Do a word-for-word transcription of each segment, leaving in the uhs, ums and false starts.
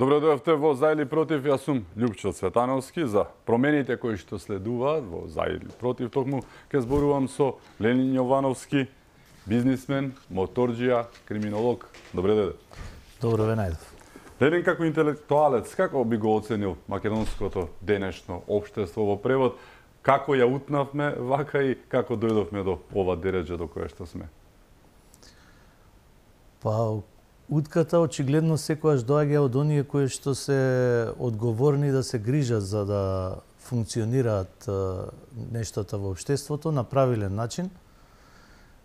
Добро дојавте во За или против. Јас сум Љупчо Цветановски. За промените кои што следуваат во За или против токму ќе зборувам со Ленин Јовановски, бизнисмен, моторџија, криминолог. Добре дојде. Добро ве најдов. Ленин, како интелектуалец, како би го оценил македонското денешно општество во превод? Како ја утнавме вака и како дојдовме до ова дереџа до кое што сме? Па, утката очигледно секогаш доаѓа од оние кои што се одговорни да се грижат за да функционираат нештата во општеството на правилен начин.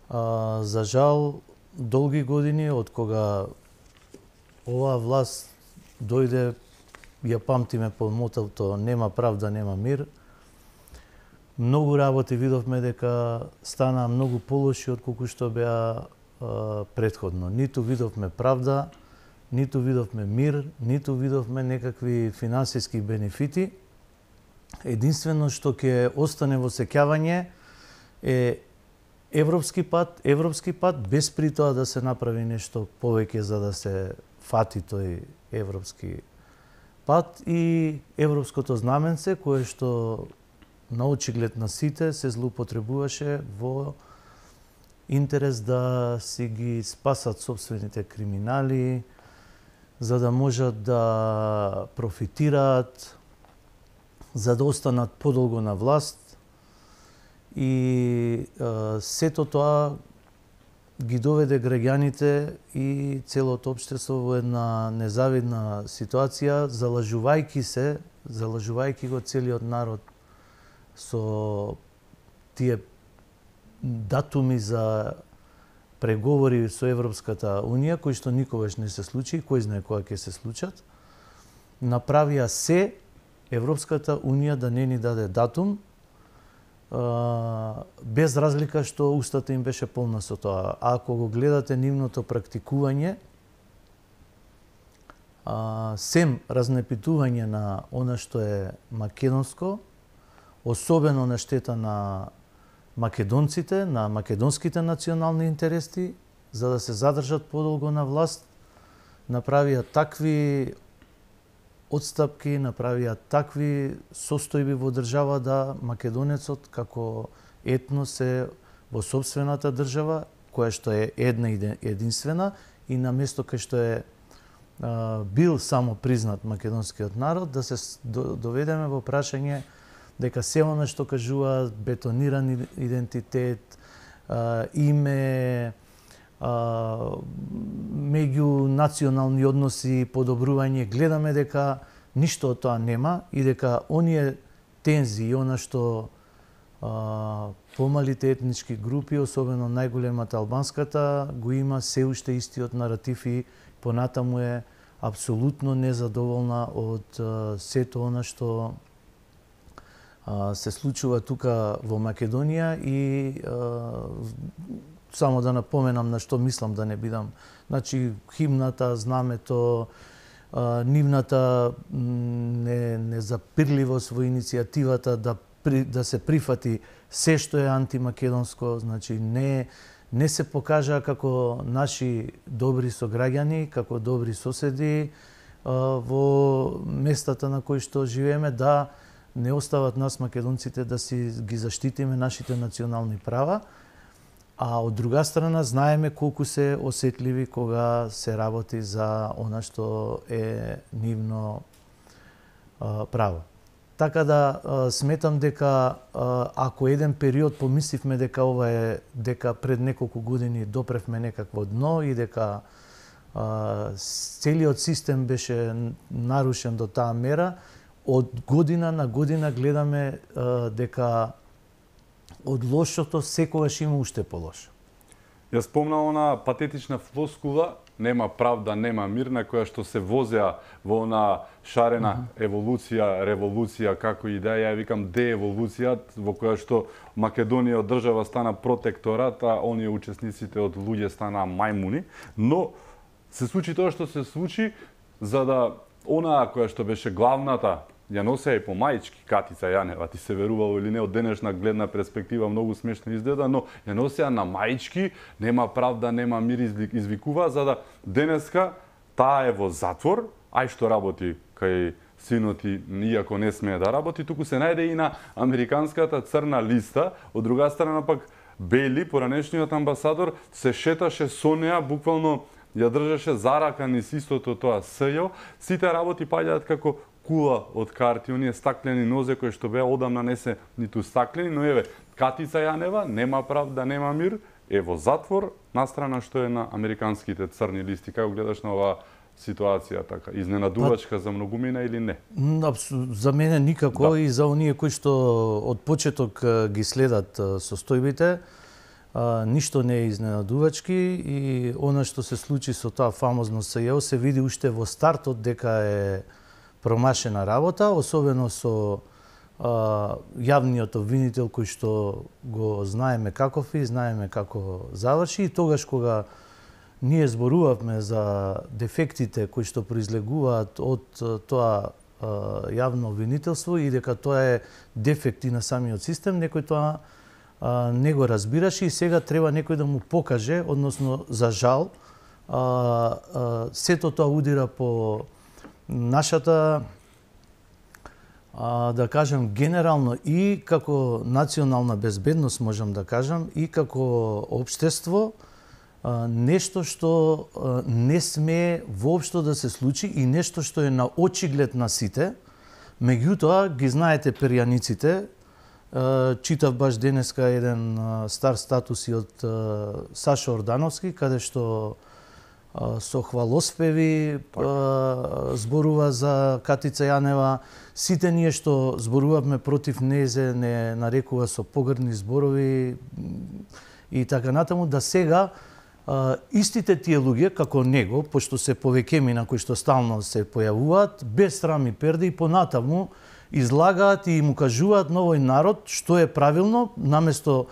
А, за жал, долги години од кога оваа власт дојде, ја памтиме по мотото нема правда, нема мир. Многу работи видовме дека стана многу полоши од колку што беа предходно. Ниту видовме правда, ниту видовме мир, ниту видовме некакви финансиски бенефити. Единствено што ќе остане во сеќавање е европски пат, европски пат, без при тоа да се направи нешто повеќе за да се фати тој европски пат и европското знаменце, кое што на очиглед на сите се злоупотребуваше во интерес да си ги спасат собствените криминали, за да можат да профитираат, за да останат подолго на власт. И е, сето тоа ги доведе граѓаните и целото општество во една незавидна ситуација, залажувајќи се, залажувајќи го целиот народ со тие датуми за преговори со Европската Унија, кои што никогаш не се случи, кој знае кога ќе се случат, направија се Европската Унија да не ни даде датум, без разлика што устата им беше полна со тоа. А ако го гледате нивното практикување, сем разнепитување на она што е македонско, особено на штета на македонците, на македонските национални интереси, за да се задржат подолго на власт, направија такви одстапки, направија такви состојби во држава да македонецот како етнос е во собствената држава, која што е една и единствена, и на место кај што е а, бил само признат македонскиот народ, да се доведеме во прашање дека се она што кажуваат бетониран идентитет, а, име, а, меѓу национални односи, подобрување, гледаме дека ништо од тоа нема и дека оние тензии, она што а, помалите етнички групи, особено најголемата албанската, го има се уште истиот наратив и понатаму е апсолутно незадоволна од а, сето она што се случува тука во Македонија и а, само да напоменам на што мислам да не бидам. Значи, химната, знамето, а, нивната не, незапирливост во иницијативата да, при, да се прифати се што е антимакедонско, значи не, не се покажа како наши добри сограѓани, како добри соседи а, во местата на кои што живееме, да не остават нас македонците да си ги заштитиме нашите национални права, а од друга страна знаеме колку се осетливи кога се работи за она што е нивно а, право. Така да а, сметам дека а, ако еден период помисливме дека ова е дека пред неколку години допревме некакво дно и дека а, целиот систем беше нарушен до таа мера, од година на година гледаме а, дека од лошото секогаш има уште полошо. Ја спомна она патетична флоскула, нема правда, нема мир, на која што се возеа во она шарена uh -huh. еволуција, револуција, како и да ја викам дееволуција, во која што Македонија од држава стана протекторат, а оние учесниците од луѓе стана мајмуни, но се случи тоа што се случи, за да она која што беше главната, ја носеа и по мајчки, Катица Јанева, ти се верувало или не, од денешна гледна перспектива многу смешно изгледа, но ја носеа на мајчки, нема правда, нема мир, извикува, за да денеска таа е во затвор, ај што работи кај синот и иако не смее да работи, туку се најде и на американската црна листа, од друга страна пак Бейли, поранешниот амбасадор, се шеташе со неа, буквално ја држеше за рака низ истото тоа СЈО. Сите работи паѓаат како кула од карти, оние стаклени нозе кои што беа одамна не се ниту стаклени, но еве, Катица Јанева нема правда, нема мир, е во затвор, настрана што е на американските црни листи. Како гледаш на оваа ситуација така? Изненадувачка за многумина или не? За мене никако, да. И за оние кои што од почеток ги следат состојбите, ништо не е изненадувачки и она што се случи со тоа фамозно СЈО се види уште во стартот дека е промашена работа, особено со а, јавниот обвинител кој што го знаеме каков и знаеме како заврши, и тогаш кога ние зборувавме за дефектите кои што произлегуваат од тоа а, јавно обвинителство и дека тоа е дефекти на самиот систем, некој тоа а, не го разбираше и сега треба некој да му покаже, односно за жал, а, а, сето тоа удира по нашата, а, да кажем, генерално и како национална безбедност, можам да кажам, и како општество, а, нешто што а, не смее воопшто да се случи и нешто што е на очиглед на сите. Меѓутоа, ги знаете перјаниците, а, читав баш денеска еден а, стар статус и од а, Сашо Ордановски, каде што со хвалоспеви зборува за Катица Јанева. Сите ние што зборувавме против незе не нарекува со погрдни зборови и така натаму, да сега истите тие луѓе како него, пошто се повеќемина кои што стално се појавуваат, без срам и перде и понатаму излагаат и му кажуваат на овој народ што е правилно, наместо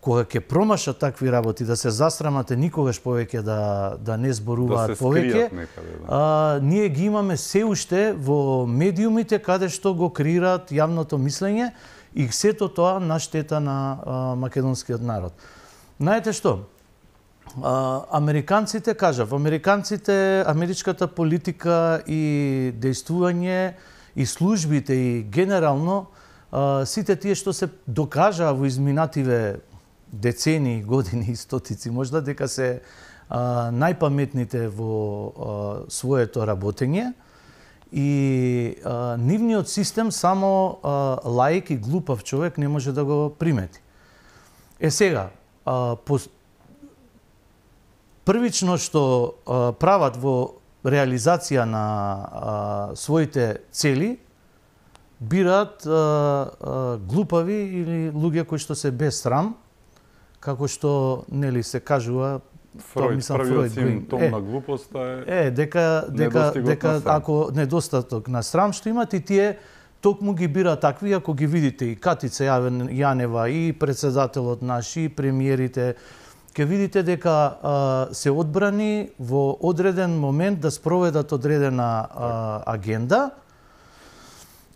кога ќе промашат такви работи, да се засрамате никогаш повеќе да, да не зборуваат да се повеќе, некаде, да. а, ние ги имаме се уште во медиумите каде што го креираат јавното мислење и сето тоа на штета на а, македонскиот народ. Знаете што? А, американците, кажав, американците, америчката политика и дејствување и службите и генерално а, сите тие што се докажаа во изминативе децени, години и стотици, можда дека се а, најпаметните во а, своето работење и а, нивниот систем само а, лаик и глупав човек не може да го примети. Е сега, а, по... првично што а, прават во реализација на а, своите цели, бираат а, а, глупави или луѓе кои што се без срам, како што нели се кажува, Фројд, мислам, првиот Фројд, симптом е, на глупоста е, е дека дека дека ако недостаток на срам што имат и тие токму ги бира такви, ако ги видите и Катица Јанева и председателот наш и премиерите, ќе видите дека а, се одбрани во одреден момент да спроведат одредена а, агенда.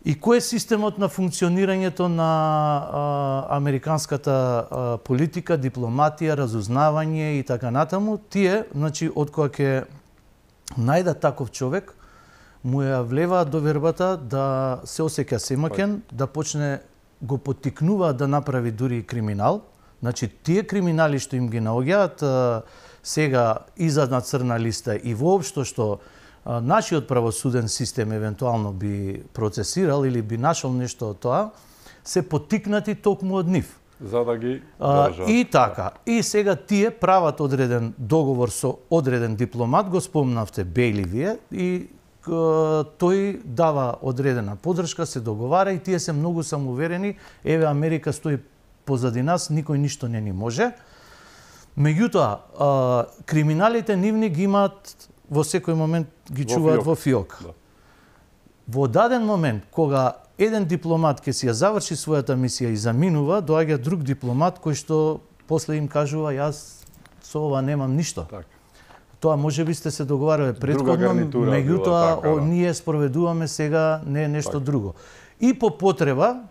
И кој е системот на функционирањето на а, американската а, политика, дипломатија, разузнавање и така натаму? Тие, значи, од која ќе најдат таков човек, му ја влеваат довербата да се осеќа семаќен, да почне го поттикнуваат да направи дури и криминал. Значи, тие криминали што им ги наоѓаат сега изад на црна листа и воопшто што нашиот правосуден систем евентуално би процесирал или би нашол нешто од тоа, се поттикнати токму од нив. За да ги држат. И така. И сега тие прават одреден договор со одреден дипломат, го спомнавте Бейли вие, и тој дава одредена поддршка, се договара и тие се многу самоуверени, еве Америка стои позади нас, никој ништо не ни може. Меѓутоа, криминалите нивни ги имаат во секој момент ги чуваат во фиок. Да. Во даден момент, кога еден дипломат ќе си ја заврши својата мисија и заминува, доаѓа друг дипломат кој што после им кажува јас со ова немам ништо. Так. Тоа можеби сте се договарале претходно, меѓутоа така, да. Ние спроведуваме сега не нешто так. Друго. И по потреба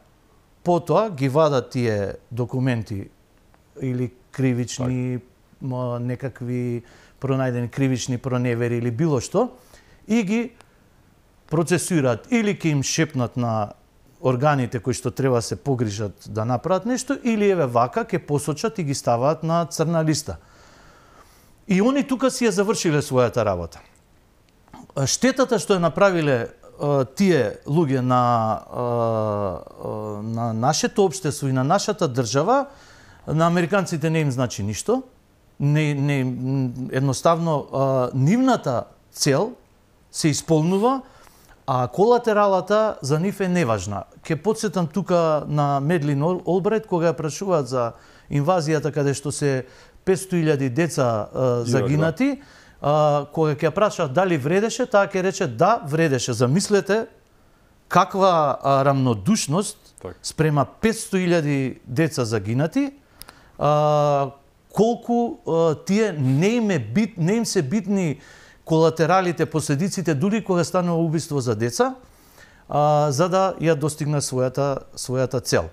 потоа ги вадат тие документи или кривични так. Некакви пронајдени кривични проневери или било што и ги процесуираат или ќе им шепнат на органите кои што треба се погрижат да направат нешто, или еве вака ќе посочат и ги ставаат на црна листа. И они тука си ја завршиле својата работа. Штетата што ја направиле тие луѓе на на нашето општество и на нашата држава, на американците не им значи ништо. Не, не, едноставно нивната цел се исполнува, а колатералата за нив е неважна. Ке подсетам тука на Медлин Олбрайт, кога ја прашуваат за инвазијата каде што се петстотини илјади деца а, загинати, а, кога ќе ја прашаат дали вредеше, таа ќе рече да, вредеше. Замислете каква а, рамнодушност так. Спрема петстотини илјади деца загинати, а, колку а, тие не им, е бит, не им се битни колатералите, последиците, дури кога станува убиство за деца, а, за да ја достигне својата, својата цел.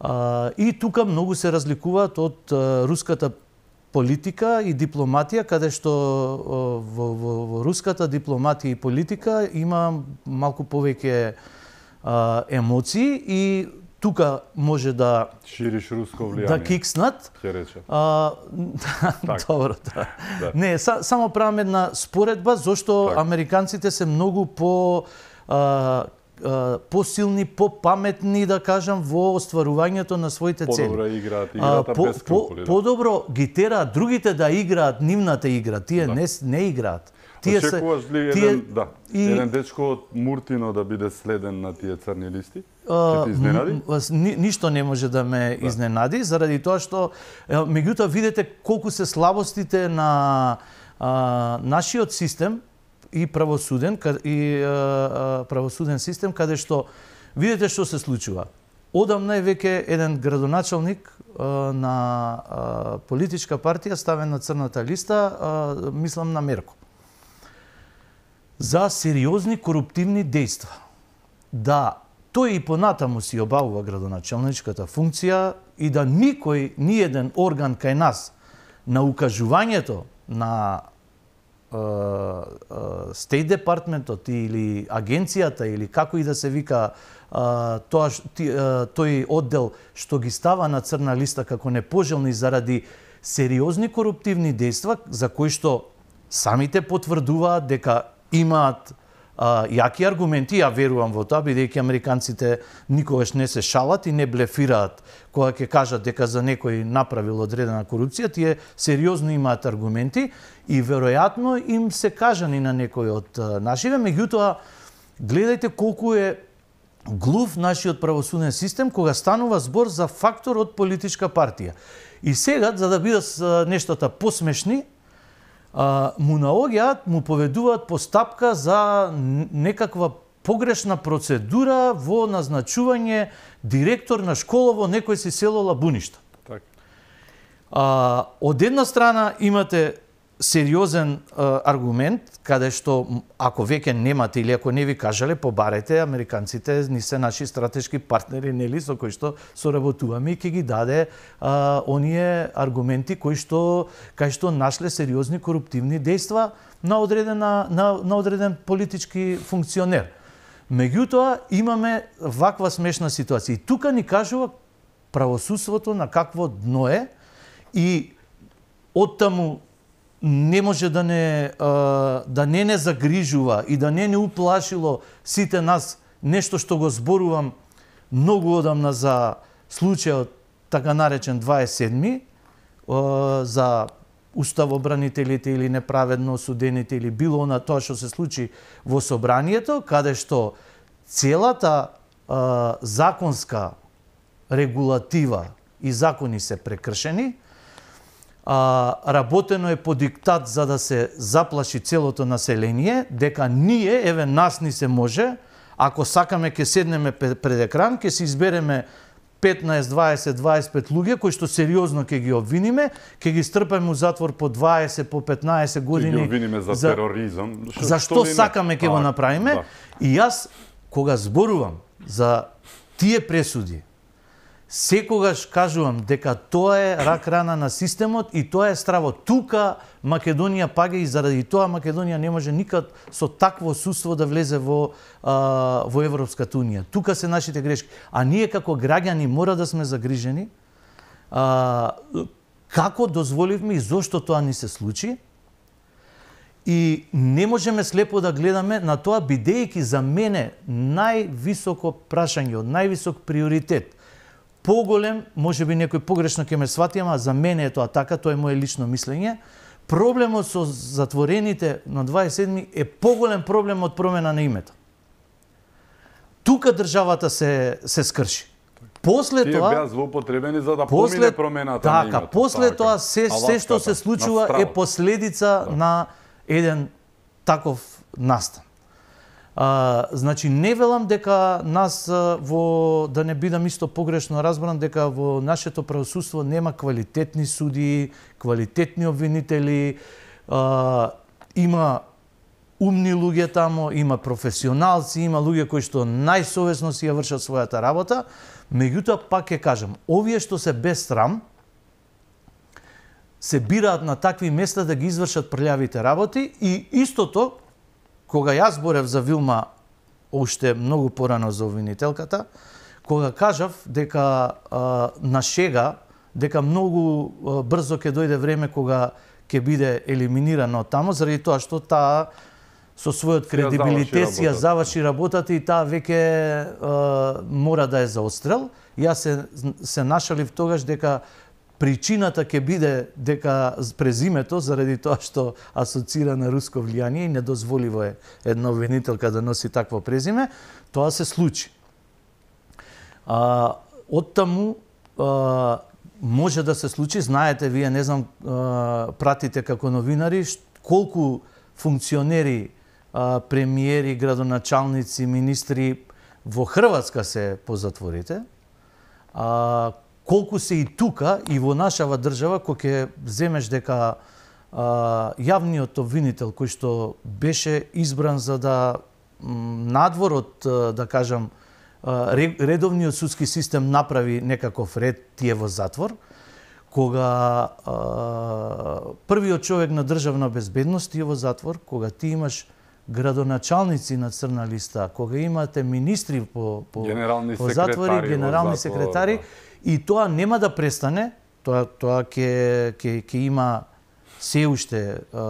А, и тука многу се разликуваат од а, руската политика и дипломатија, каде што а, во, во, во руската дипломатија и политика има малку повеќе а, емоции и тука може да шириш руско влијание. Да кикснат. Ќе рече. А, добро, да. да. Не, са, само правам една споредба зошто так. Американците се многу по а, а, посилни, попаметни, да кажам, во остварувањето на своите цели. Подобро играат играта по, без скрупули. По, подобро ги тераат другите да играат нивната игра, тие да. не не играат. Тие очекуваш ли еден, тие... да, и... еден дечко од Муртино да биде следен на тие црни листи? Ќе те изненади? Ни, ништо не може да ме да. изненади, заради тоа што меѓутоа видете колку се слабостите на а, нашиот систем и правосуден и а, правосуден систем каде што видите што се случува. Одамна е веќе еден градоначалник а, на а, политичка партија ставен на црната листа, а, мислам на Мерко, за сериозни коруптивни дејства. Да, тој и понатаму си обавува градоначалничката функција и да никој, ни еден орган кај нас на укажувањето на е, е, State Departmentот или агенцијата или како и да се вика е, тоа, ти, е, тој оддел што ги става на црна листа како непожелни заради сериозни коруптивни дејства за кои што самите потврдуваат дека имаат а, јаки аргументи, ја верувам во тоа, бидејќи американците никогаш не се шалат и не блефираат кога ќе кажат дека за некој направил одредена корупција, тие сериозно имаат аргументи и веројатно им се кажани на некој од а, нашиве, меѓутоа гледајте колку е глув нашиот правосуден систем кога станува збор за фактор од политичка партија. И сега, за да бидат нештата посмешни, Uh, му наоѓаат, му поведуваат постапка за некаква погрешна процедура во назначување директор на школа во некој си село Лабуништа. Так. Uh, од една страна имате сериозен uh, аргумент, каде што ако веќе немате или ако не ви кажале, побарете, американците ни се наши стратешки партнери, нели, со кои што соработуваме и ќе ги даде uh, оние аргументи кои што кај што нашле сериозни коруптивни дејства на одредена на, на одреден политички функционер. Меѓутоа имаме ваква смешна ситуација. И тука ни кажува правосудството на какво дно е и оттаму не може да не да не не загрижува и да не не уплашило сите нас нешто што го зборувам многу одамна за случајот така наречен дваесет и седми за уставобранителите или неправедно осудените или било на тоа што се случи во собранието, каде што целата а, законска регулатива и закони се прекршени, а, работено е по диктат за да се заплаши целото население, дека ние, еве нас ни се може, ако сакаме ќе седнеме пред екран, ќе се избереме петнаесет, дваесет, дваесет и пет луѓе кои што сериозно ќе ги обвиниме, ќе ги стрпаме у затвор по дваесет, по петнаесет години. Ќе ги обвиниме за, за тероризам. Шо, зашто сакаме ќе го направиме? Да. И јас кога зборувам за тие пресуди, Секогаш кажувам дека тоа е рак рана на системот и тоа е страво. Тука Македонија паѓа и заради тоа Македонија не може никад со такво суство да влезе во а, во Европската унија. Тука се нашите грешки. А ние како граѓани мора да сме загрижени а, како дозволивме и зошто тоа ни се случи. И не можеме слепо да гледаме на тоа, бидејќи за мене највисоко прашање, од највисок приоритет, поголем, може би некој погрешно ќе ме свати, ама за мене е тоа така, тоа е мое лично мислење. Проблемот со затворените на дваесет и седми е поголем проблем од промена на името. Тука државата се се скрши. После Тие тоа беа злоупотребени за да после, помине промената така, на името. После така. тоа се се што се случува е последица да. на еден таков настан. А, значи не велам дека нас а, во да не бидам исто погрешно разбран дека во нашето правосудство нема квалитетни суди, квалитетни обвинители, а, има умни луѓе тамо, има професионалци, има луѓе кои што најсовесно си ја вршат својата работа, меѓутоа пак ќе кажам, овие што се без срам се бираат на такви места да ги извршат прљавите работи и истото кога јас зборев за Вилма уште многу порано за обвинителката, кога кажав дека а, на шега, дека многу а, брзо ќе дојде време кога ќе биде елиминирана од тамо, заради тоа што таа со својот кредибилитет ја заврши работата и таа веќе а, мора да е за отстрел. Јас се, се нашалив тогаш дека причината ќе биде дека презимето, заради тоа што асоцира на руско влијание и недозволиво е една обвинителка да носи такво презиме, тоа се случи. А, оттаму а, може да се случи, знаете, вие не знам, а, пратите како новинари, колку функционери, а, премиери, градоначалници, министри во Хрватска се по затворите, а, колку се и тука, и во нашава држава, кој ќе земеш дека а, јавниот обвинител кој што беше избран за да надвор од, да кажам, редовниот судски систем направи некаков ред тие во затвор, кога а, првиот човек на државна безбедност тие во затвор, кога ти имаш градоначалници на црна листа, кога имате министри по, по, по затвори, генерални секретари, и тоа нема да престане, тоа тоа ќе ќе ќе има се уште а, а,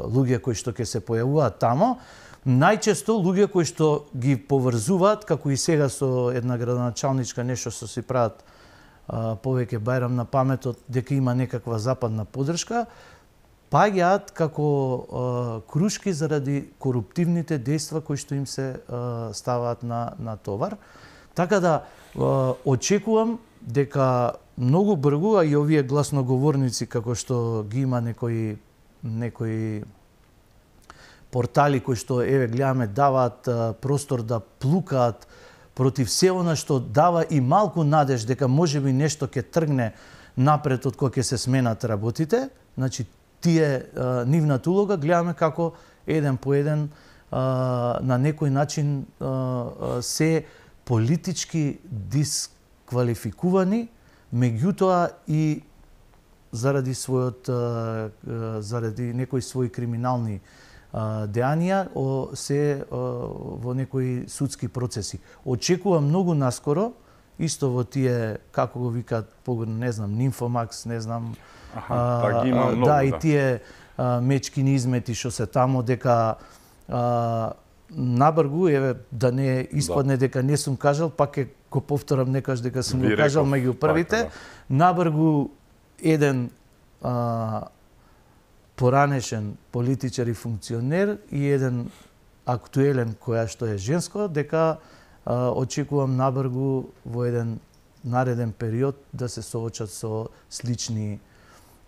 луѓе кои што ќе се појавуваат тамо, најчесто луѓе кои што ги поврзуваат, како и сега со една градоначалничка нешто што си прават а, повеќе бајрам на паметот дека има некаква западна поддршка, паѓаат како а, крушки заради коруптивните дејства кои што им се а, ставаат на на товар. Така да а, очекувам дека многу бргу, а и овие гласноговорници како што ги има некои некои портали кои што еве гледаме даваат а, простор да плукаат против се она што дава и малку надеж дека можеби нешто ќе тргне напред од кога ќе се сменат работите, значи тие а, нивната улога гледаме како еден по еден а, на некој начин а, а, се политички дисквалификувани, меѓутоа и заради својот заради некои своји криминални дејанија се во некои судски процеси. Очекувам многу наскоро исто во тие како го викаат, не знам, Нимфомакс, не знам, Аха, а, да, има многу, да, и тие а, мечкини измети што се тамо, дека а, набргу, еве, да не испадне да. дека не сум кажал, пак е го повторам некаш дека сум го кажал меѓу првите, така, да. Набргу еден а, поранешен политичар и функционер и еден актуелен која што е женско, дека а, очекувам набргу во еден нареден период да се соочат со слични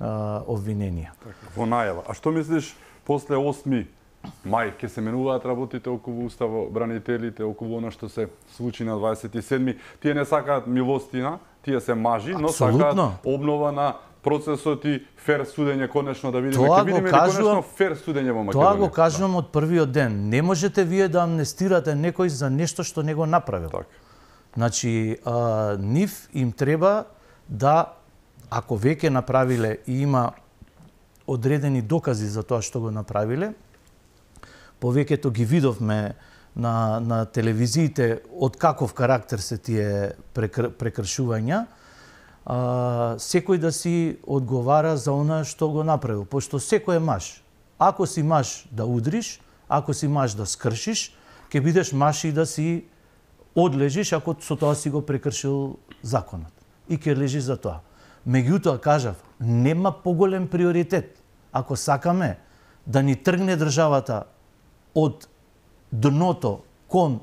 а, обвиненија. Така, во најава. А што мислиш после осми мај ќе се менуваат работите околу уставобранителите, околу она што се случи на дваесет и седми? Тие не сакаат милостина, тие се мажи, но сакаат обнова на процесот и фер судење, конечно да видиме, ќе видиме конечно фер судење во Македонија. Тоа го кажувам од првиот ден. Не можете вие да амнестирате некој за нешто што не го направил. Так. Значи, а, нив им треба да, ако веќе направиле и има одредени докази за тоа што го направиле, повеќето ги видовме на, на телевизиите од каков карактер се тие прекр, прекршувања, а, секој да си одговара за она што го направил, пошто секој е маж. Ако си маж да удриш, ако си маж да скршиш, ќе бидеш маж и да си одлежиш ако со тоа си го прекршил законот. И ќе лежиш за тоа. Меѓутоа, кажав, нема поголем приоритет. Ако сакаме да ни тргне државата од дното кон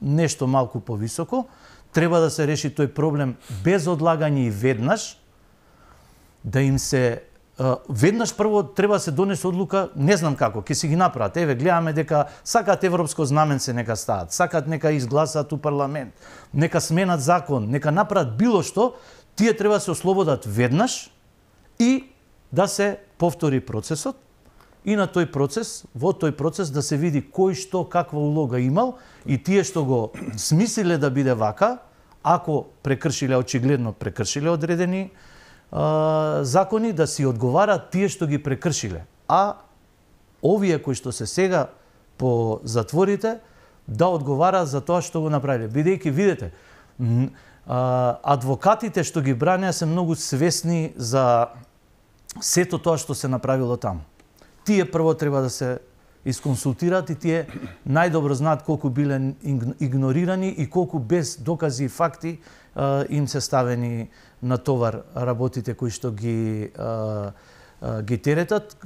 нешто малку повисоко, треба да се реши тој проблем без одлагање и веднаш, да им се веднаш прво треба да се донесе одлука, не знам како, ќе си ги направат. Еве, гледаме дека сакаат европско знаменце нека стават, сакаат нека изгласаат у парламент, нека сменат закон, нека направат било што, тие треба да се ослободат веднаш и да се повтори процесот и на тој процес, во тој процес да се види кој што каква улога имал и тие што го смислиле да биде вака, ако прекршиле, очигледно прекршиле одредени а, закони, да си одговарат тие што ги прекршиле. А овие кои што се сега по затворите да одговараат за тоа што го направиле. Бидејќи, видите, а, адвокатите што ги бранеа се многу свесни за сето тоа што се направило таму. Тие прво треба да се исконсултираат и тие најдобро знаат колку биле игнорирани и колку без докази и факти а, им се ставени на товар работите кои што ги а, а, ги теретат.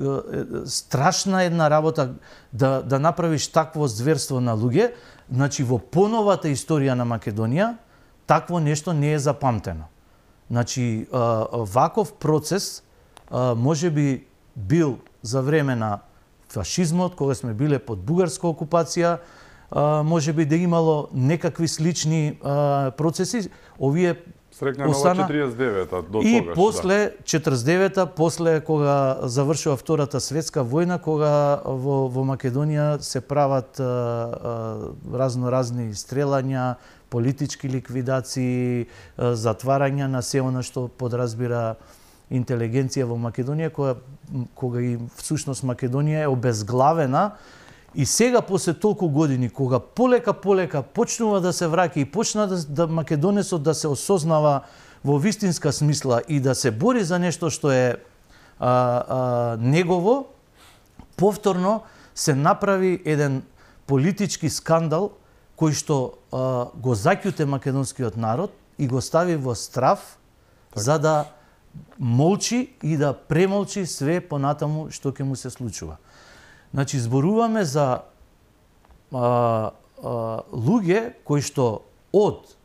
Страшна една работа да да направиш такво зверство на луѓе. Значи, во поновата историја на Македонија такво нешто не е запамтено. Значи, а, ваков процес а, може би бил за време на фашизмот, кога сме биле под бугарска окупација, а, може би да имало некакви слични а, процеси. Овие Срекна остана четиридесет и девета до и тогаш, после да. четиридесет и девета, после кога завршува Втората светска војна, кога во, во Македонија се прават а, а, разно-разни стрелања, политички ликвидации, а, затварања на се она што подразбира интелигенција во Македонија, кога, кога и всушност Македонија е обезглавена. И сега, после толку години, кога полека полека почнува да се враќа и почна да, да македонецот да се осознава во вистинска смисла и да се бори за нешто што е а, а, негово, повторно се направи еден политички скандал кој што а, го заќуте македонскиот народ и го стави во страв, так, за да молчи и да премолчи све понатаму што ќе му се случува. Значи, зборуваме за а, а, луѓе кои што од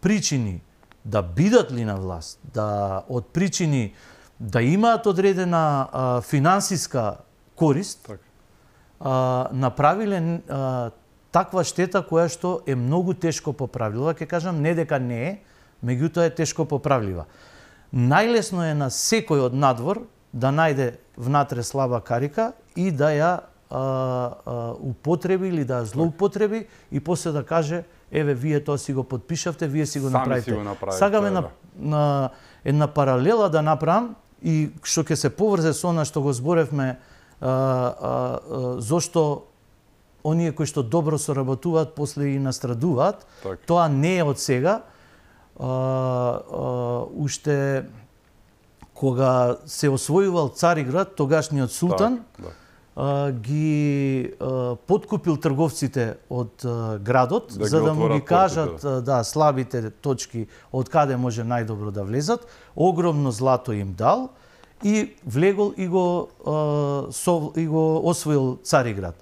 причини да бидат ли на власт, да од причини да имаат одредена а, финансиска корист, так, а, направиле а, таква штета која што е многу тешко поправлива. Ќе кажам, не дека не е, меѓутоа е тешко поправлива. Најлесно е на секој од надвор да најде внатре слаба карика и да ја а, а, употреби или да ја злоупотреби и после да каже, еве, вие тоа си го подпишавте, вие си го Сами направите. си го направите. Сагаме да. на, на една паралела да направам и што ќе се поврзе со она што го зборевме, а, а, а, зошто оние кои што добро соработуваат после и настрадуваат. Так. Тоа не е од сега. А, а, уште кога се освојувал Цариград, тогашниот султан, так, да, а, ги а, подкупил трговците од а, градот, да, за да му ги кажат портите, да, слабите точки од каде може најдобро да влезат. Огромно злато им дал и влегол и го, а, со, и го освоил Цариград.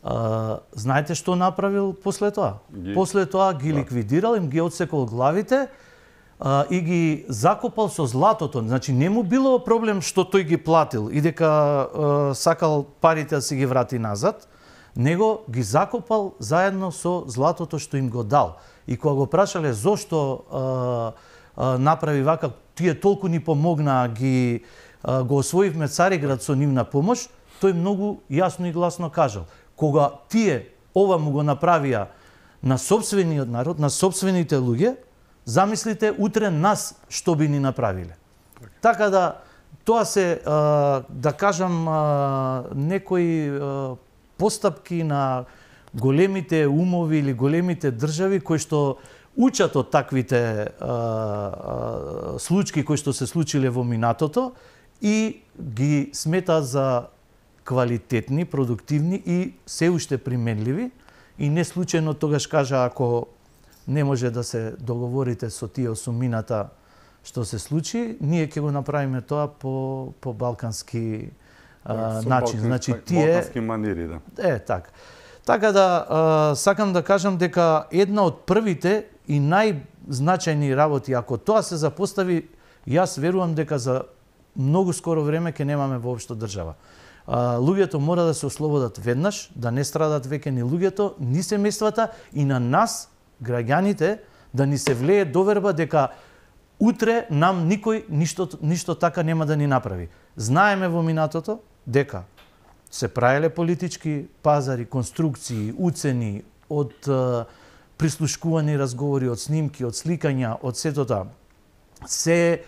А, знаете што направил после тоа? Ги... После тоа ги, да, ликвидирал, им ги отсекол главите а, и ги закопал со златото. Значи, не му било проблем што тој ги платил и дека а, сакал парите да си ги врати назад, него ги закопал заедно со златото што им го дал. И кога го прашале зошто а, а, направи вака, тие толку ни помогнаа, ги а, го освоивме Цариград со нивна помош, тој многу јасно и гласно кажал. Кога тие ова му го направија на сопствениот народ, на сопствените луѓе, замислите утре нас што би ни направиле. Така да тоа се, да кажам, некои постапки на големите умови или големите држави кои што учат од таквите случаи кои што се случиле во минатото и ги сметаат за квалитетни, продуктивни и се уште применливи. И не случајно тогаш кажа, ако не може да се договорите со тие осумината што се случи, ние ќе го направиме тоа по по балкански а, начин. Значи тие балкански манири, да. Е, така. Така да а, сакам да кажам дека една од првите и најзначајни работи, ако тоа се запостави, јас верувам дека за многу скоро време ќе немаме воопшто држава. А, луѓето мора да се ослободат веднаш, да не страдат веќе ни луѓето, ни семејствата и на нас, граѓаните, да ни се влее доверба дека утре нам никој ништо, ништо така нема да ни направи. Знаеме во минатото дека се правеле политички пазари, конструкции, уцени од е, прислушкувани разговори, од снимки, од сликања, од сето тоа. Се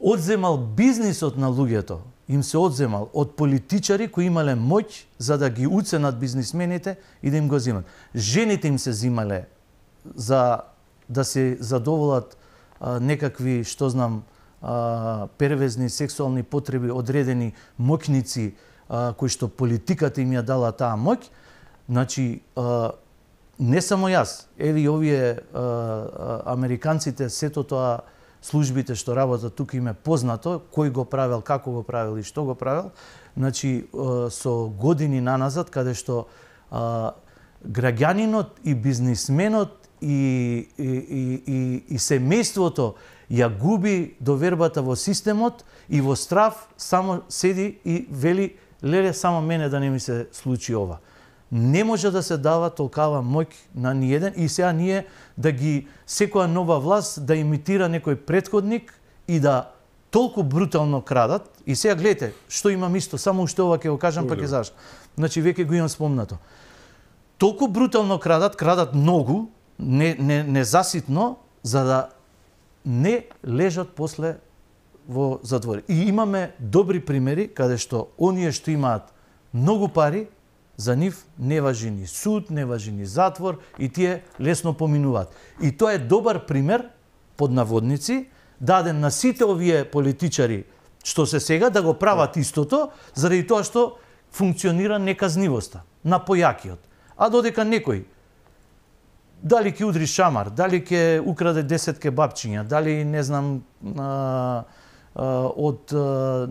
одземал бизнисот на луѓето, им се одземал од политичари кои имале моќ за да ги уценат бизнисмените и да им го земат. Жените им се земале за да се задоволат а, некакви, што знам, а, первезни сексуални потреби, одредени моќници а, кои што политиката им ја дала таа моќ. Значи, а, не само јас, еви овие а, а, американците, сето тоа службите што работат тука им е познато, кој го правел, како го правел и што го правел. Значи, а, со години наназад, каде што а, граѓанинот и бизнисменот и, и, и, и, и семејството ја губи довербата во системот и во страв само седи и вели, леле, само мене да не ми се случи ова. Не може да се дава толкава моќ на ниеден и сега ние да ги, секоја нова власт да имитира некој претходник и да толку брутално крадат. И сега гледате, што имам исто, само уште ова ќе го кажам, па ќе зашто. Значи, веќе го имам спомнато. Толку брутално крадат, крадат многу, не, не, не заситно, за да не лежат после во затвори. И имаме добри примери, каде што оние што имаат многу пари, за нив не важи ни суд, не важи ни затвор и тие лесно поминуваат. И тоа е добар пример, под наводници, даден на сите овие политичари што се сега да го прават истото, заради тоа што функционира неказнивоста на појакиот. А додека некој дали ќе удри шамар, дали ќе украде десет кебапчиња, дали не знам а, а, од а,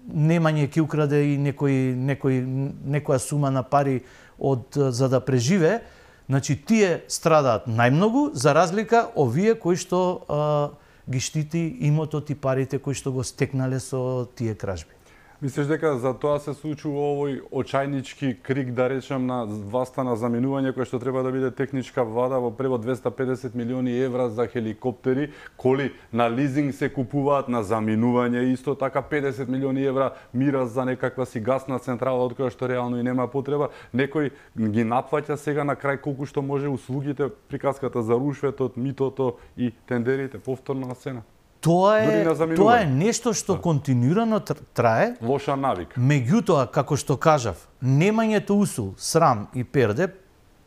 немање ќе украде и некој некој некоја сума на пари од за да преживее, значи тие страдаат најмногу за разлика овие кои што а, ги штити имотот и парите кои што го стекнале со тие кражби. Мислиш дека за тоа се случува овој очајнички крик, да речем, на власта на заминување, кој што треба да биде техничка влада во превод двесте и педесет милиони евра за хеликоптери, коли на лизинг се купуваат, на заминување исто така педесет милиони евра мира за некаква си гасна централа од која што реално и нема потреба. Некој ги наплаќа сега на крај колку што може услугите, приказката за рушветот, митото и тендерите повторно на сцена. Тоа е, тоа е нешто што да. континуирано трае. Лоша навика. Меѓутоа, како што кажав, немањето усул, срам и перде,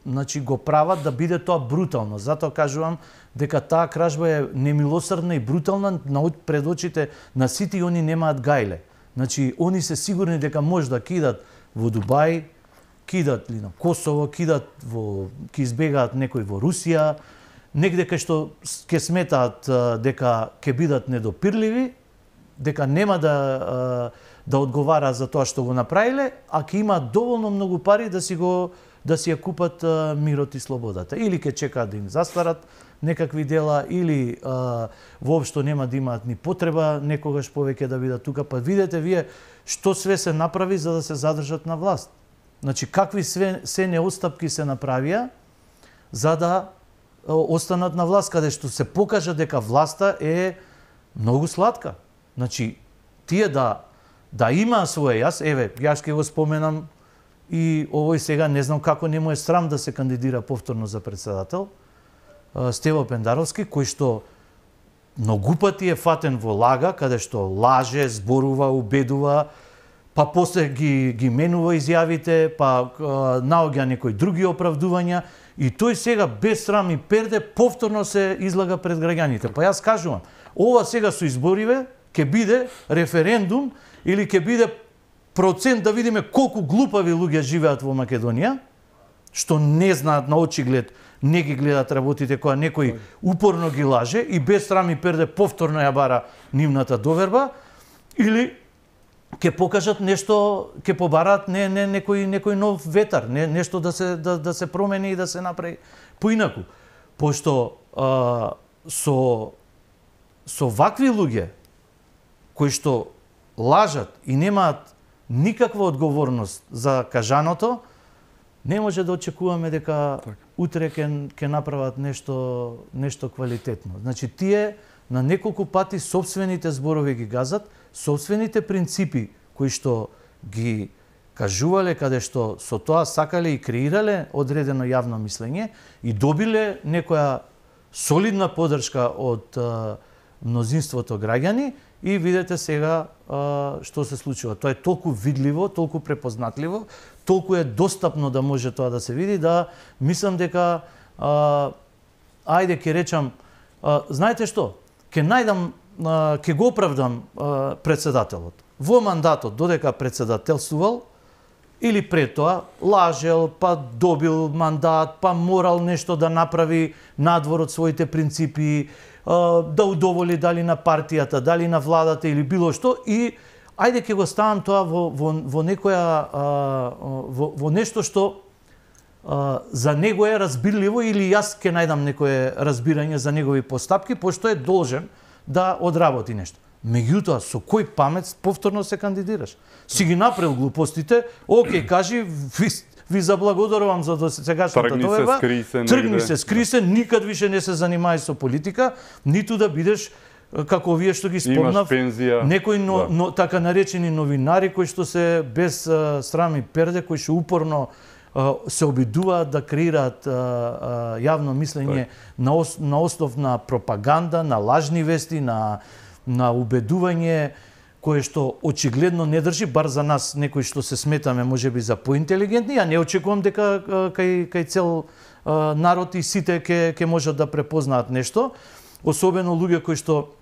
значи го прават да биде тоа брутално. Затоа кажувам дека таа кражба е немилосрдна и брутална пред очите на сите и они немаат гајле. Значи, они се сигурни дека може да кидат во Дубај, кидат ли на Косово, кидат во, ки избегаат некој во Русија, негде кај што ќе сметаат дека ќе бидат недопирливи, дека нема да да одговара за тоа што го направиле, а ќе имаат доволно многу пари да си го да си ја купат мирот и слободата. Или ќе чекаат да им застарат некакви дела, или а, воопшто нема да имаат ни потреба некогаш повеќе да бидат тука. Па видете вие што све се направи за да се задржат на власт. Значи какви све се неостапки се направија за да останат на власт, каде што се покажа дека власта е многу сладка. Значи, тие да да има своје, јас, еве, јас ќе го споменам и овој сега не знам како не му е срам да се кандидира повторно за председател, Стево Пендаровски, кој што многу пати е фатен во лага, каде што лаже, зборува, убедува, па после ги, ги менува изјавите, па наоѓа некои други оправдувања, и тој сега без срам и перде повторно се излага пред граѓаните. Па јас кажувам, ова сега со избориве ќе биде референдум или ќе биде процент да видиме колку глупави луѓе живеат во Македонија, што не знаат на очиглед, не ги гледат работите која некој упорно ги лаже и без срам и перде повторно ја бара нивната доверба, или ќе покажат нешто, ќе побараат не, не некој некој нов ветар, не нешто да се да, да се промени и да се направи поинаку. Пошто а, со со вакви луѓе кои што лажат и немаат никаква одговорност за кажаното, не може да очекуваме дека так. утре ќе ќе направат нешто нешто квалитетно. Значи тие на неколку пати сопствените зборови ги газат, сопствените принципи кои што ги кажувале, каде што со тоа сакале и креирале одредено јавно мислење и добиле некоја солидна поддршка од а, мнозинството граѓани, и видете сега а, што се случува. Тоа е толку видливо, толку препознатливо, толку е достапно да може тоа да се види, да мислам дека а, ајде ќе речам, а, знаете што? Ќе најдам, а, ќе го оправдам а, председателот. Во мандатот додека председателствувал или пред тоа лажел, па добил мандат, па морал нешто да направи надвор од своите принципи, да удоволи дали на партијата, дали на владата или било што, и ајде ќе го ставам тоа во, во, во некоја во, во нешто што а, за него е разбирливо, или јас ќе најдам некое разбирање за негови постапки, пошто е должен да одработи нешто. Меѓутоа, со кој памет повторно се кандидираш? Си ги направил глупостите, окей, кажи, ви, ви заблагодарувам за досегашната доверба, тргни се, скри се, никад више не се занимај со политика, ниту да бидеш како вие што ги спомнав, некои но, да. но, така наречени новинари кои што се без а, срам и перде, кои што упорно а, се обидуваат да креираат а, а, јавно мислење на, ос, на основ на пропаганда, на лажни вести, на на убедување кое што очигледно не држи, бар за нас некои што се сметаме можеби за поинтелигентни. Ја не очекувам дека кај кај цел а, народ и сите ќе ќе можат да препознаат нешто, особено луѓе кои што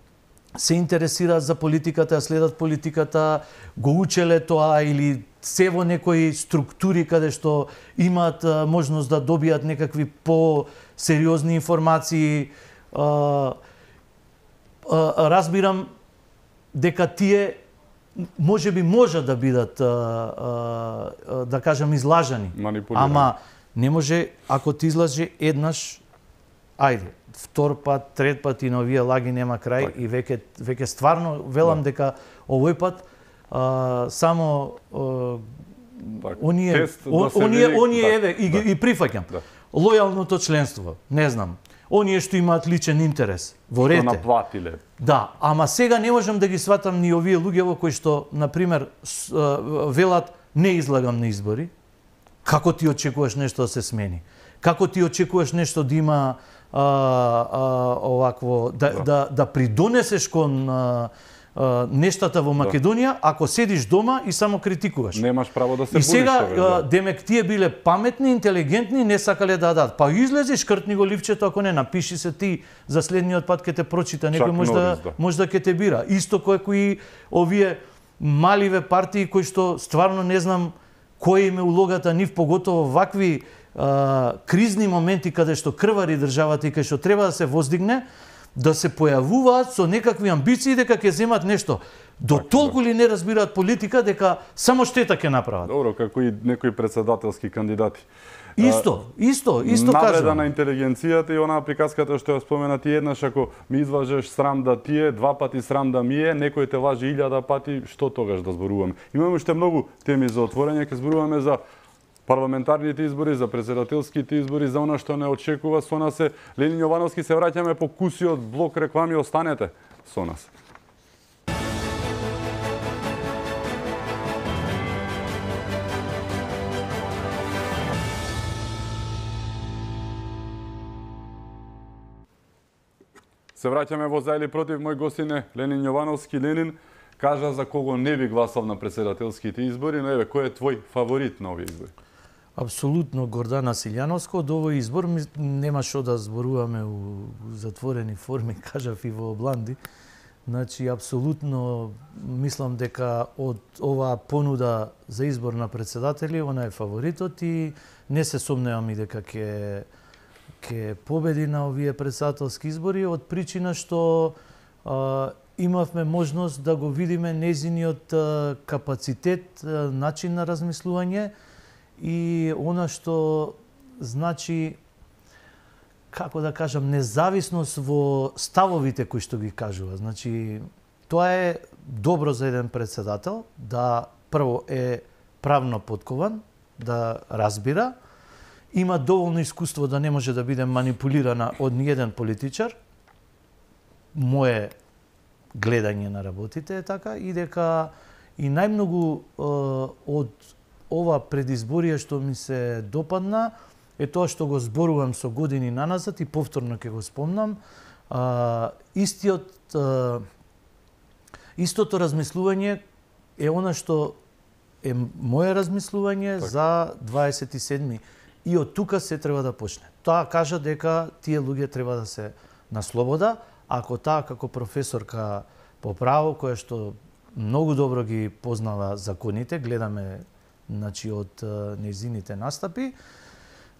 се интересираат за политиката, следат политиката, го учеле тоа или се во некои структури каде што имаат а, можност да добијат некакви по-сериозни информации. А, разбирам дека тие можеби може да бидат, да кажам, излажани. Ама не може, ако ти излаже еднаш, ајде, втор пат, трет пат и на овие лаги нема крај, так. И веќе веќе стварно велам да. дека овој пат а, само а, так. оние он, да оние види, оние да. еве и, да. и прифаќам. Да. Лојалното членство, не знам. Оние што имаат личен интерес во рете. Што наплатиле. Да, ама сега не можам да ги сватам ни овие луѓе во кои што, например, велат не излагам на избори. Како ти очекуваш нешто да се смени? Како ти очекуваш нешто да има а, а, овакво да, да. да да придонесеш кон а, а, нештата во Македонија, да. ако седиш дома и само критикуваш. Немаш право да се будиш. И сега тебе, да. демек тие биле паметни, интелигентни, не сакале да дадат. Па излези, шкртни го ливчето, ако не напиши се ти за следниот пат ќе те прочита, некој може да, да може да ќе те бира. Исто кој кои овие маливе партии кои што стварно не знам која им е улогата нив, поготово вакви а, кризни моменти каде што крвари државата и каде што треба да се воздигне, да се појавуваат со некакви амбиции дека ќе земат нешто. До так, толку ли не разбираат политика дека само штета ќе направат? Добро, како и некои председателски кандидати. Исто, исто, исто кажам. Навреда на интелигенцијата и онаа приказката што ја спомена ти, еднаш ако ми изважеш срам да ти е, два пати срам да ми е, некој те лажи илјада пати, што тогаш да зборуваме? Имаме уште многу теми за отворање, ќе зборуваме за парламентарните избори, за председателските избори, за она што не очекува со нас е Ленин Јовановски. Се враќаме по кусиот блок реклами, останете со нас. Се враќаме во за или против. Мој гостин е Ленин Јовановски. Ленин, кажа за кого не би гласал на претседателските избори, но еве, кој е твој фаворит на овие избори? Апсолутно Гордана Силјановска. Од овој избор нема што да зборуваме у затворени форми, кажав и во Обланди. Значи, апсолутно мислам дека од оваа понуда за избор на претседатели, она е фаворитот и не се сомневам и дека ќе ќе победи на овие претседателски избори од причина што а, имавме можност да го видиме незиниот а, капацитет, а, начин на размислување и она што значи, како да кажам, независност во ставовите кои што ги кажува. Значи, тоа е добро за еден претседател, да прво е правно подкован, да разбира, има доволно искуство да не може да биде манипулирана од ниеден политичар. Мое гледање на работите е така, и дека и најмногу е, од ова предизборие што ми се допадна е тоа што го зборувам со години наназад и повторно ќе го спомнам. А, истиот, а, истото размислување е она што е мое размислување так. За дваесет и седми. И од тука се треба да почне. Тоа кажа дека тие луѓе треба да се на слобода, ако таа како професорка по право, која што многу добро ги познава законите, гледаме значи од нејзините настапи,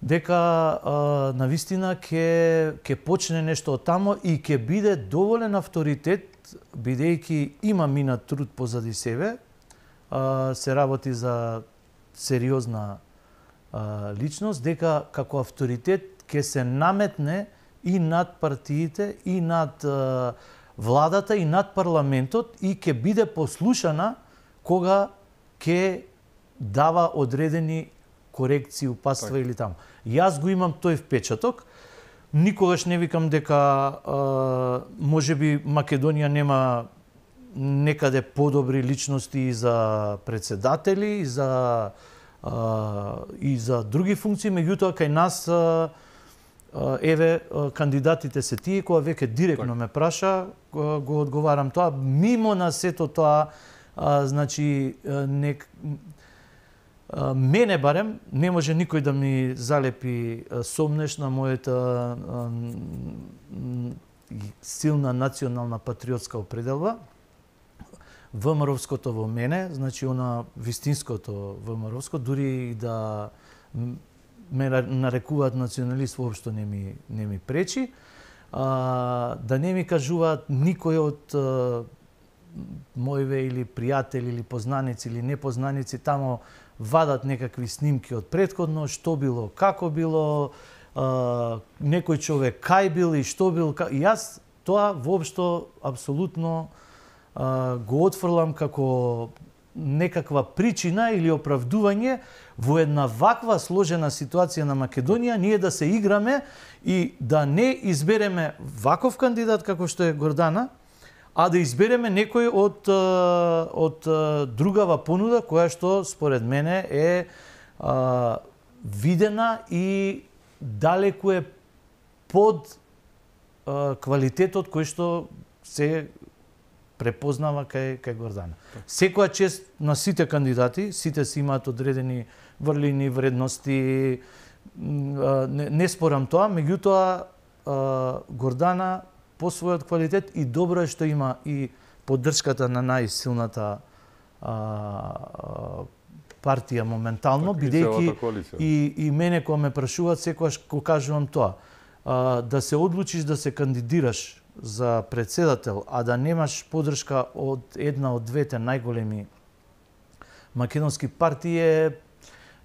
дека а, навистина ќе ќе почне нешто од тамо и ќе биде доволен авторитет, бидејќи има минат труд позади себе, а, се работи за сериозна а, личност, дека како авторитет ќе се наметне и над партиите, и над а, владата, и над парламентот и ќе биде послушана кога ќе дава одредени корекции, упатства так. Или таму. Јас го имам тој впечаток. Никогаш не викам дека а, можеби Македонија нема некаде подобри личности и за председатели, и за а, и за други функции, меѓутоа кај нас а, а, еве а, кандидатите се тие, кога веќе директно так. Ме праша, го одговарам тоа. Мимо на сето тоа, а, значи нек мене барем не може никој да ми залепи сомнеш на мојата силна национална патриотска определба. ВМРО-вското во мене, значи она вистинското ВМРО-вско, дури и да ме нарекуваат националист, воопшто не ми не ми пречи. А, да не ми кажуваат никој од моиве или пријатели или познаници или непознаници тамо вадат некакви снимки од претходно, што било, како било, а, некој човек кај бил и што бил. Ка... Јас тоа воопшто апсолутно а, го отфрлам како некаква причина или оправдување во една ваква сложена ситуација на Македонија ние да се играме и да не избереме ваков кандидат како што е Гордана, а да избереме некој од, од другава понуда, која што според мене е а, видена и далеку е под а, квалитетот кој што се препознава кај, кај Гордана. Секоја чест на сите кандидати, сите си имаат одредени врлини, вредности, не, не спорам тоа, меѓутоа Гордана по својот квалитет и добро е што има и поддршката на најсилната а, партија моментално, бидејќи и, и мене кога ме прашуваат секогаш го кажувам тоа. А, да се одлучиш да се кандидираш за председател, а да немаш поддршка од една од двете најголеми македонски партии е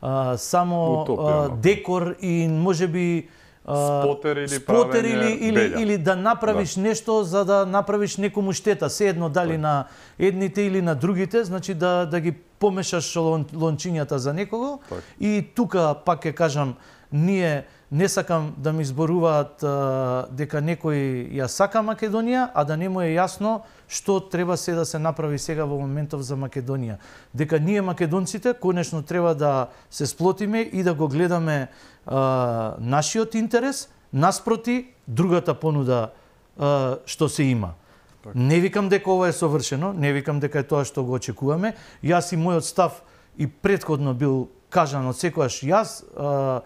а, само а, декор и можеби спотер или спотер или, или, или да направиш да. Нешто за да направиш некому штета, се едно дали так. На едните или на другите, значи да да ги помешаш лон, лончињата за некого. Так. И тука пак ќе кажам, ние не сакам да ми зборуваат а, дека некој ја сака Македонија, а да не му е јасно што треба се да се направи сега во моментов за Македонија. Дека ние македонците конечно треба да се сплотиме и да го гледаме а, нашиот интерес наспроти другата понуда а, што се има. Так. Не викам дека ова е совршено, не викам дека е тоа што го очекуваме. Јас и мојот став и претходно бил кажан од секојаш. Јас а,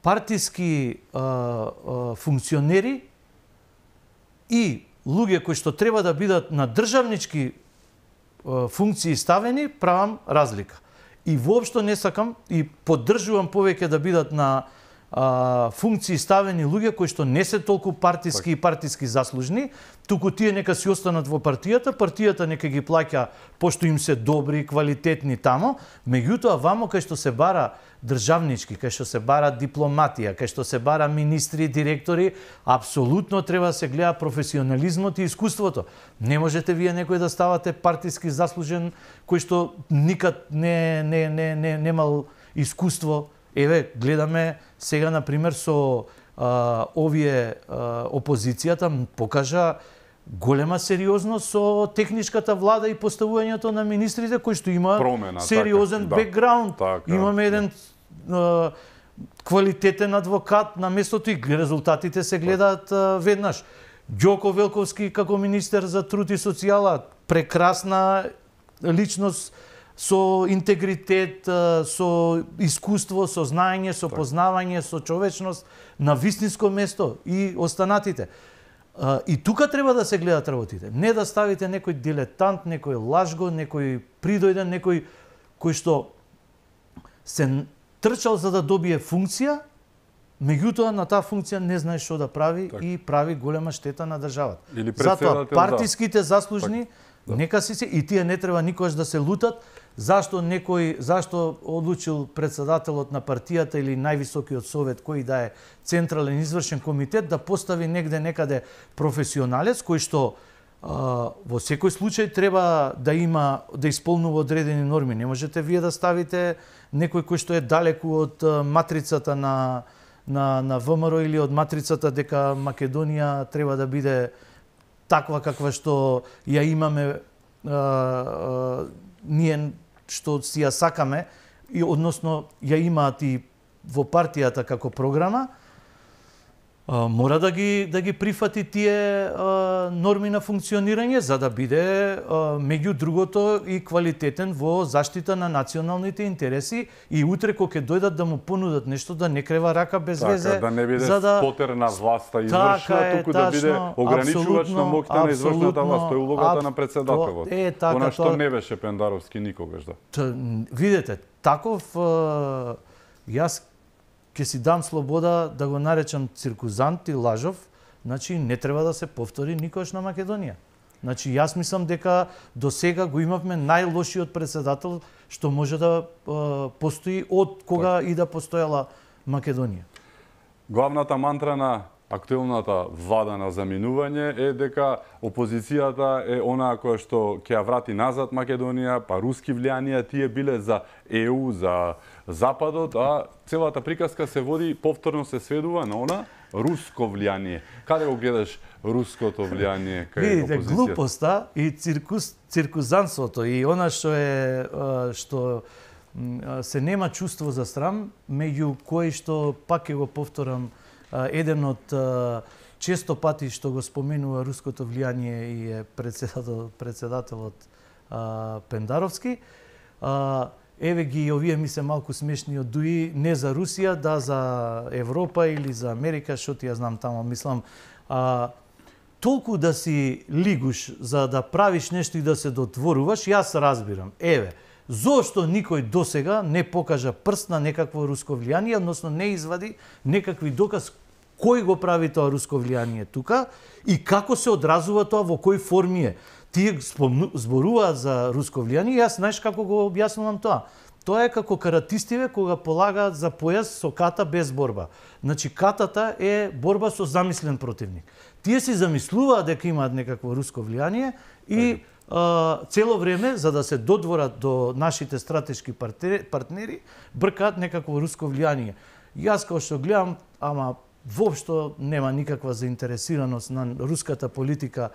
партиски а, а, функционери и луѓе кои што треба да бидат на државнички а, функции ставени, правам разлика. И воопшто не сакам и поддржувам повеќе да бидат на а, функции ставени луѓе кои што не се толку партиски так. и партиски заслужни, туку тие нека си останат во партијата, партијата нека ги плаќа пошто им се добри, квалитетни тамо, меѓутоа вамо кај што се бара државнички, кај што се бара дипломатија, кај што се бара министри, директори, апсолутно треба да се гледа професионализмот и искуството. Не можете вие некој да ставате партиски заслужен кој што никад не не не не немал искуство. Еве, гледаме сега, например, со а, овие а, опозицијата покажа голема сериозност со техничката влада и поставувањето на министрите кои што има Промена, сериозен така, бекграунд. така, Имаме еден а, квалитетен адвокат на местото и резултатите се гледаат а, веднаш. Ѓоко Велковски како министер за труд и социјала, прекрасна личност со интегритет, со искуство, со знаење, со познавање, со човечност на вистинско место и останатите. И тука треба да се гледат работите. Не да ставите некој дилетант, некој лажго, некој придојден, некој кој што се трчал за да добие функција, меѓутоа на таа функција не знае што да прави так. И прави голема штета на државата. Затоа партиските заслужни так. Да. Нека си се и тие не треба никогаш да се лутат зашто некој зашто одлучил председателот на партијата или највисокиот совет кој да е централен извршен комитет да постави негде некаде професионалец кој што а, во секој случај треба да има да исполнува одредени норми. Не можете вие да ставите некој кој што е далеку од матрицата на на на ВМРО или од матрицата дека Македонија треба да биде таква каква што ја имаме а, а, ние што си ја сакаме и односно ја имаат и во партијата како програма, а, мора да ги да ги прифати тие а, норми на функционирање за да биде а, меѓу другото и квалитетен во заштита на националните интереси и утре кога ќе дојдат да му понудат нешто да не крева рака без така, везе да не биде за да спотер на власта извршна, така туку да биде ограничувач на моќта на извршната власт, тоа е улогата на председателот. Е, така, она што тоа... не беше Пендаровски никогаш, да. Т, видете, таков а, јас ќе си дам слобода да го наречам циркузант и лажов, значи не треба да се повтори никош на Македонија. Значи јас мислам дека до сега го имавме најлошиот председател што може да а, постои од кога и да постоела Македонија. Главната мантра на актуелната влада на заминување е дека опозицијата е онаа која што ќе ја врати назад Македонија, па руски влијанија, тие биле за Е У, за Западот, а целата приказка се води, повторно се сведува на она руско влијание. Каде го гледаш руското влијание кај Видите, опозицијата? глупоста и циркус, циркузанството и она што е што се нема чувство за срам, меѓу кои што пак ќе го повторам еден од често пати што го споменува руското влијание и е председател, председателот а, Пендаровски. А, еве ги овие ми се малку смешни од Дуи, не за Русија, да за Европа или за Америка, што ти ја знам тамо, мислам. А, толку да си лигуш за да правиш нешто и да се дотворуваш, јас разбирам. Еве, зошто никој досега не покажа прст на некакво руско влијание, односно не извади некакви доказ кој го прави тоа руско влијание тука и како се одразува тоа, во кои форми е. Тие зборуваат за руско влијание, јас знаеш како го објаснувам тоа. Тоа е како каратистиве кога полагаат за појас со ката без борба. Значи катата е борба со замислен противник. Тие си замислуваат дека имаат некакво руско влијание и а, цело време за да се додворат до нашите стратешки партнери бркаат некакво руско влијание. Јас као што гледам, ама воопшто нема никаква заинтересираност на руската политика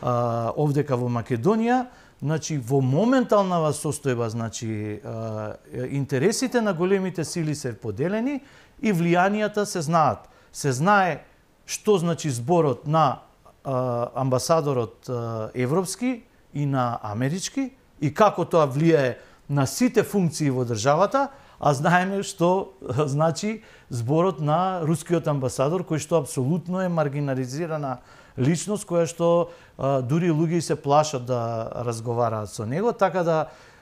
а, овдека во Македонија. Значи во моменталнава состојба, значи а, интересите на големите сили се поделени и влијанијата се знаат. Се знае што значи зборот на а, амбасадорот а, европски и на амерички и како тоа влијае на сите функции во државата, а знаеме што значи зборот на рускиот амбасадор, кој што апсолутно е маргинализирана личност, која што а, дури луѓе се плашат да разговараат со него, така да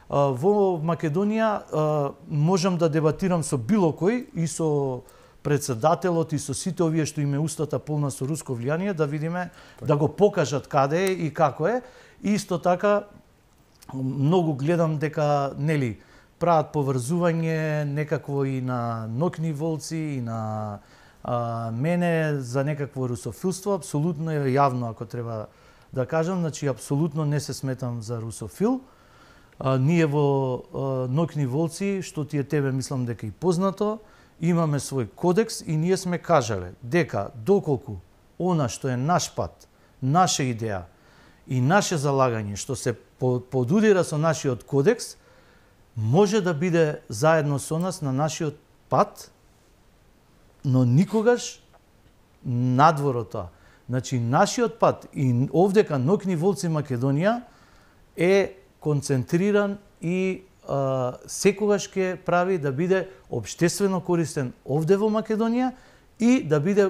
а, во Македонија а, можам да дебатирам со било кој и со председателот и со сите овие што име устата полна со руско влијание, да видиме, так. да го покажат каде е и како е. Исто така, многу гледам дека, нели, прават поврзување некакво и на Нокни волци, и на а, мене за некакво русофилство. Апсолутно е јавно, ако треба да кажам, значи, апсолутно не се сметам за русофил. А, ние во а, Нокни волци, што ти е тебе, мислам дека и познато, имаме свој кодекс и ние сме кажале дека доколку она што е наш пат, наша идеја и наше залагање што се подудира со нашиот кодекс, може да биде заедно со нас на нашиот пат, но никогаш надвор од тоа. Значи, нашиот пат и овдека Нокни волци Македонија е концентриран и Uh, секогаш ќе прави да биде општествено користен овде во Македонија и да биде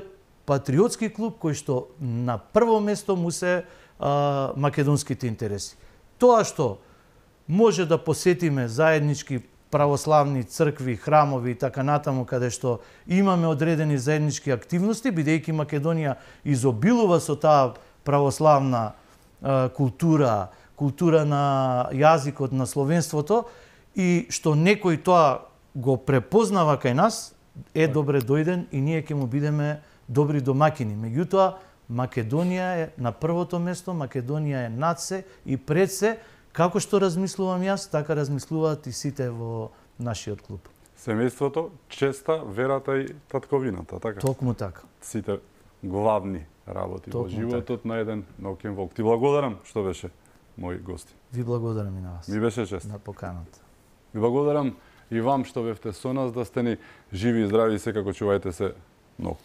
патриотски клуб кој што на прво место му се uh, македонските интереси. Тоа што може да посетиме заеднички православни цркви, храмови и така натаму, каде што имаме одредени заеднички активности, бидејќи Македонија изобилува со таа православна uh, култура, култура на јазикот, на словенството, и што некој тоа го препознава кај нас, е добре дојден и ние ќе му бидеме добри домакини. Меѓутоа, Македонија е на првото место, Македонија е над се и пред се, како што размислувам јас, така размислуваат и сите во нашиот клуб. Семејството, честа, верата и татковината, така? Токму така. Сите главни работи Токму во животот така. на еден наукен волк. Ти благодарам што беше мој гости. Ви благодарам и на вас. Ми беше чест. На поканата. Ви благодарам и вам што бевте со нас, да сте ни живи и здрави, секако чувајте се многу.